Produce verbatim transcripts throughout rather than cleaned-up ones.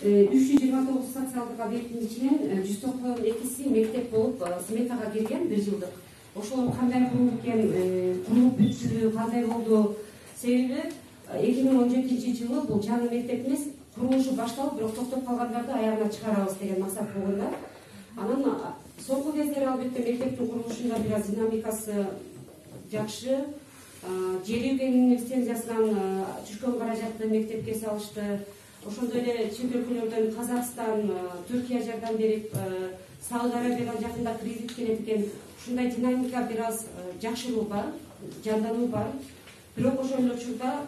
үч жүз жыйырма тогуз социалдык объекттин ичинен жүз токсон экиси мектеп болуп сметага кирген бир жылдык. Ошол кандай курулуп экен, курулуп бүткүлү кандай болду? Себеби эки миң он жетинчи жылы бул жаңы мектеп эмес, курулушу башталып, бирок токтоп калгандарды аягына чыгарабыз деген максат болгон да. Анан соңку кездери албетте мектептин курулушунда бир аз динамикасы жакшы. Жер үйгенин лицензиясынан түшкөн каражатты мектепке салышты. Ошондой эле чет өлкөлөрдөн Казакстан, Түркия жардам берип, Сауд Арабиядан жакында кредит келет экен. Ушундай динамика бир аз жакшыруу бар, жандануу бар. Бирок ошол эле учурда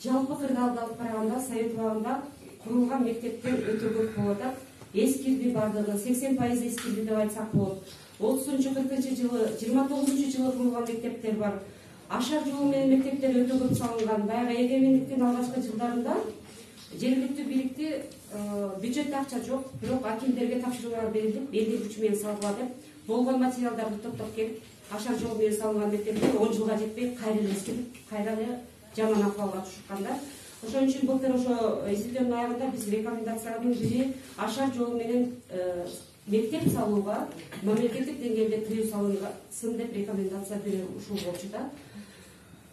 жалпы кырдаалды алып караганда Совет убагында курулган мектептер өтө көп болуп атат. Эскирди бардыгы, сексен пайыз эскирди деп айтсак болот. отузунчу кыркынчы жылы, жыйырма тогузунчу жылы курулган мектептер бар. Ашар жолу менен мектептер өтө көп салынган. Баягы эгемендиктин алгачкы жылдарында жергиликтүү бийликти бюджетте акча жок, бирок акимдерге тапшыруулар берилип, элдин күчү менен салгыла деп болгон материалдарды топтоп келип, ашар жолу менен салынган мектептер он жылга жетпей кайра эле эскирип, кайра эле жаман акыбалга түшкөн. Ошон үчүн былтыр ошо издөөдүн аягында биз рекомендациянын бири ашар жолу менен мектеп салууга мамлекеттик деңгээлде тыюу салынсын деп рекомендация берүү ушул болчу да.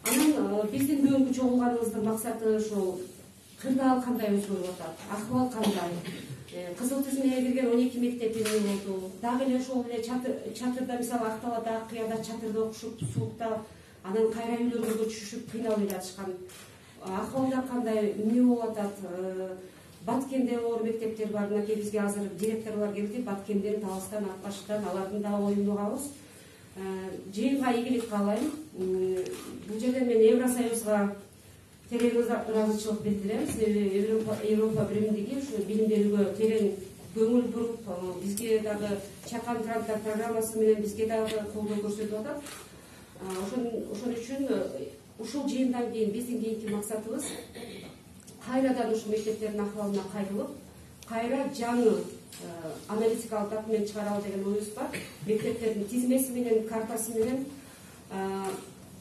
Анан биздин бүгүнкү чогулганыбыздын максаты ушул кырдаал кандай өзгөрүп атат, акыбал кандай, кызыл тизмеге кирген он эки мектеп эмне болду, дагы эле ошол эле чатырда мисалы Акталада, Акыяда чатырда окушуп, суукта, анан кайра үйлөргө түшүшүп кыйналып жатышкан. Акыбалдар кандай, эмне болуп атат? Баткенде оор мектептер бар, мынакей бизге азыр директорлор келди, Баткенден, Таластан, Акбаштан, алардын да оюн угабыз. Жыйынга ийгилик каалайм. Бул жерде мен Евросоюзга терең ыраазычылык билдирем. Себеби Европа биримдиги ушу билим берүүгө терең көңүл буруп, бизге дагы чакан гранттар программасы менен бизге дагы колдоо көрсөтүп атат. Ошон үчүн ушул жыйындан кийин биздин кийинки максатыбыз кайрадан ушул мектептердин акыбалына кайрылып, кайра жаңы аналитикалык документ чыгаралы деген оюбуз бар. Мектептердин тизмеси менен, картасы менен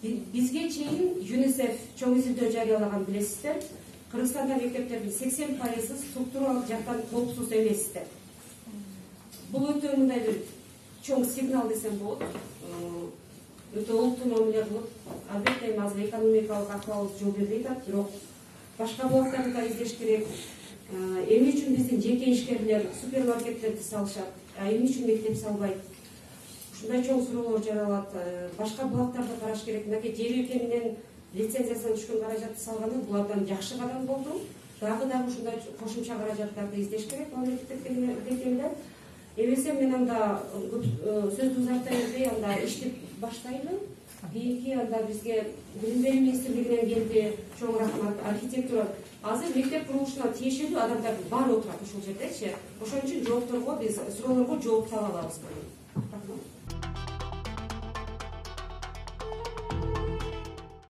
бизге чейин ЮНИСЕФ чоң изилдөө жарыялаган, билесиздер. Кыргызстанда мектептердин сексен пайызы структуралык жактан коопсуз эместер. Бул өтө мындай бир чоң сигнал десем болот. Өтө олуттуу мамиле кылып, албетте эми азыр экономикалык акыбалыбыз жол бербей атат, бирок башка булактарды да издеш керек. Эмне үчүн биздин жеке ишкерлер супермаркеттерди салышат, а эмне үчүн мектеп салбайт? Ушундай чоң суроолор жаралат. Башка булактарды караш керек. Мынакей жер үйке менен лицензиясынан түшкөн каражатты салганы булардан жакшы кадам болду. Дагы дагы ушундай кошумча каражаттарды издеш керек мамлекеттик деңгээлде. Эбесе мен анда сөздү узарта бербей, анда ишти баштайлы. Кийинки анда бизге билим берүү министрлигинен келди, чоң рахмат. Архитектура азыр мектеп курулушуна тиешелүү адамдардын баары отурат ушул жердечи. Ошон үчүн жоопторго биз суроолорго жооп таба алабыз.